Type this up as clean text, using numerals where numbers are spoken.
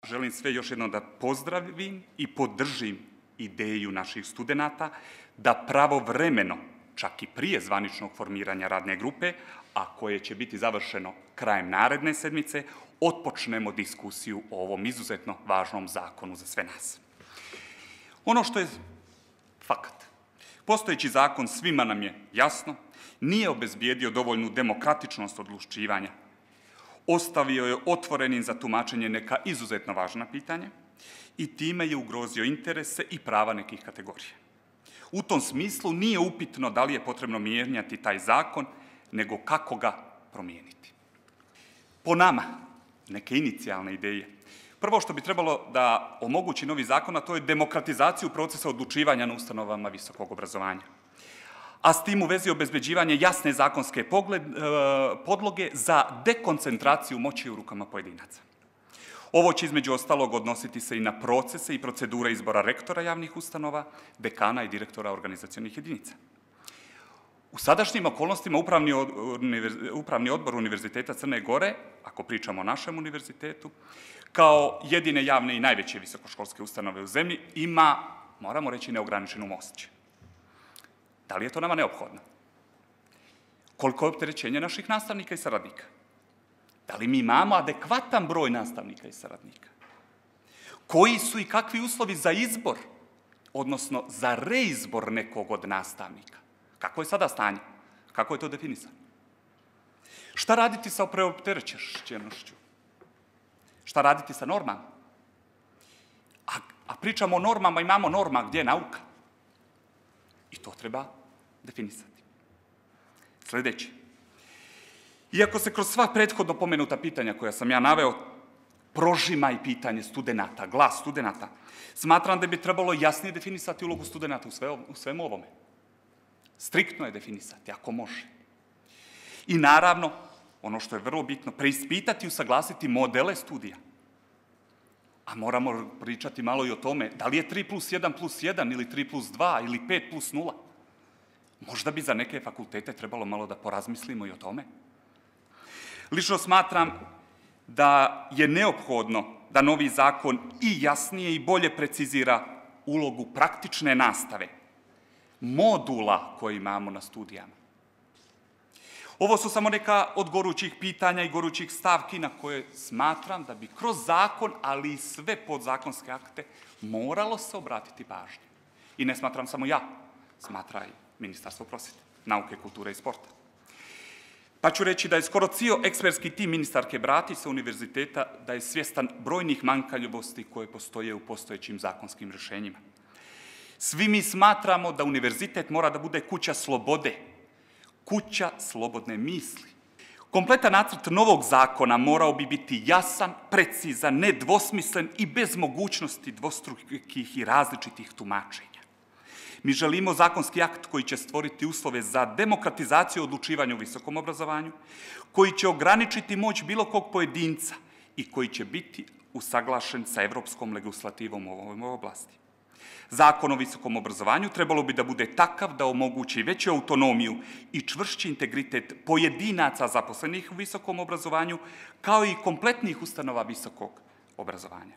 Želim sve još jednom da pozdravim i podržim ideju naših studenata da pravovremeno, čak i prije zvaničnog formiranja radne grupe, a koje će biti završeno krajem naredne sedmice, otpočnemo diskusiju o ovom izuzetno važnom zakonu za sve nas. Ono što je fakat, postojeći zakon, svima nam je jasno, nije obezbijedio dovoljnu demokratičnost odlučivanja. Ostavio je otvorenim za tumačenje neka izuzetno važna pitanja i time je ugrozio interese i prava nekih kategorija. U tom smislu nije upitno da li je potrebno mijenjati taj zakon, nego kako ga promijeniti. Po nama, neke inicijalne ideje. Prvo što bi trebalo da omogući novi zakon, a to je demokratizaciju procesa odlučivanja na ustanovama visokog obrazovanja. A s tim u vezi obezbeđivanje jasne zakonske podloge za dekoncentraciju moći u rukama pojedinaca. Ovo će između ostalog odnositi se i na procese i procedure izbora rektora javnih ustanova, dekana i direktora organizacionih jedinica. U sadašnjim okolnostima Upravni odbor Univerziteta Crne Gore, ako pričamo o našem univerzitetu, kao jedine javne i najveće visokoškolske ustanove u zemlji, ima, moramo reći, neograničenu moć. Da li je to nama neophodno? Koliko je opterećenje naših nastavnika i saradnika? Da li mi imamo adekvatan broj nastavnika i saradnika? Koji su i kakvi uslovi za izbor, odnosno za reizbor nekog od nastavnika? Kako je sada stanje? Kako je to definisano? Šta raditi sa preopterećenošću? Šta raditi sa normama? A pričamo o normama, imamo norma gdje je nauka. I to treba definisati. Sljedeći. Iako se kroz sva prethodno pomenuta pitanja koja sam ja naveo prožima i pitanje studenata, glas studenata, smatram da bi trebalo jasnije definisati ulogu studenata u svemu ovome. Striktno je definisati, ako može. I naravno, ono što je vrlo bitno, preispitati i usaglasiti modele studija. A moramo pričati malo i o tome da li je 3+1+1 ili 3+2 ili 5+0. Možda bi za neke fakultete trebalo malo da porazmislimo i o tome. Lično smatram da je neophodno da novi zakon i jasnije i bolje precizira ulogu praktične nastave, modula koje imamo na studijama. Ovo su samo neka od gorućih pitanja i gorućih stavki na koje smatram da bi kroz zakon, ali i sve podzakonske akte, moralo se obratiti pažnje. I ne smatram samo ja, smatra i Ministarstvo prosvjete, nauke, kulture i sporta. Pa ću reći da je skoro cijel ekspertski tim ministarke Bratić sa univerziteta da je svjestan brojnih manjkavosti koje postoje u postojećim zakonskim rješenjima. Svi mi smatramo da univerzitet mora da bude kuća slobode, kuća slobodne misli. Kompletan nacrt novog zakona morao bi biti jasan, precizan, nedvosmislen i bez mogućnosti dvostrukih i različitih tumačenja. Mi želimo zakonski akt koji će stvoriti uslove za demokratizaciju odlučivanja u visokom obrazovanju, koji će ograničiti moć bilo kog pojedinca i koji će biti usaglašen sa evropskom legislativom u ovoj oblasti. Zakon o visokom obrazovanju trebalo bi da bude takav da omogući veću autonomiju i čvršći integritet pojedinaca zaposlenih u visokom obrazovanju, kao i kompletnih ustanova visokog obrazovanja.